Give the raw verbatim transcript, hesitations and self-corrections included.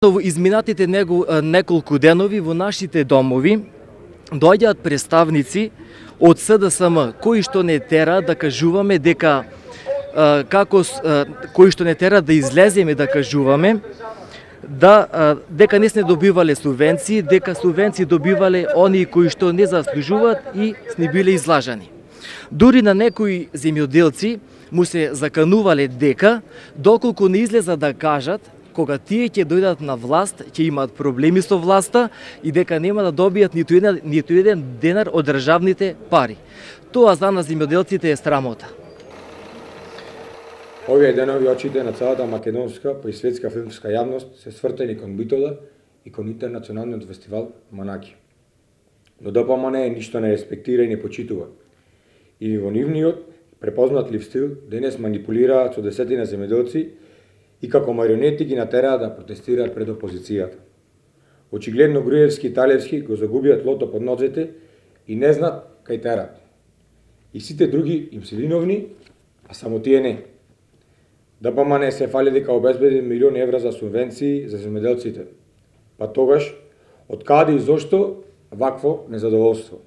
Во изминатите неколку денови во нашите домови доаѓаат представници од С Д С М кои што не тера да кажуваме дека како кои што не тера да излеземе да кажуваме да дека не сме добивале субвенции, дека субвенции добивале оние кои што не заслужуваат и сни биле излажани. Дури на некои земјоделци му се заканувале дека доколку не излеза да кажат кога тие ќе дојдат на власт, ќе имаат проблеми со власта и дека нема да добијат ниту еден, ниту еден денар од државните пари. Тоа за нас земјоделците е срамота. Овие денови очите на целата македонска па и светска филмска јавност се свртени кон Битола и кон интернационалниот фестивал Манаки. Но Д П М Н ништо не респектира и не почитува. И во нивниот препознатлив стил денес манипулираат со десетина земјоделци и како марионети ги натераат да протестираат пред опозицијата. Очигледно Груевски и Талевски го загубиат лото под нозете и не знаат кај терат. И сите други им се виновни, а само тие не. Д П М Н се фали дека обезбеди милиони евра за субвенции за земјоделците. Па тогаш, од каде и зошто вакво незадоволство?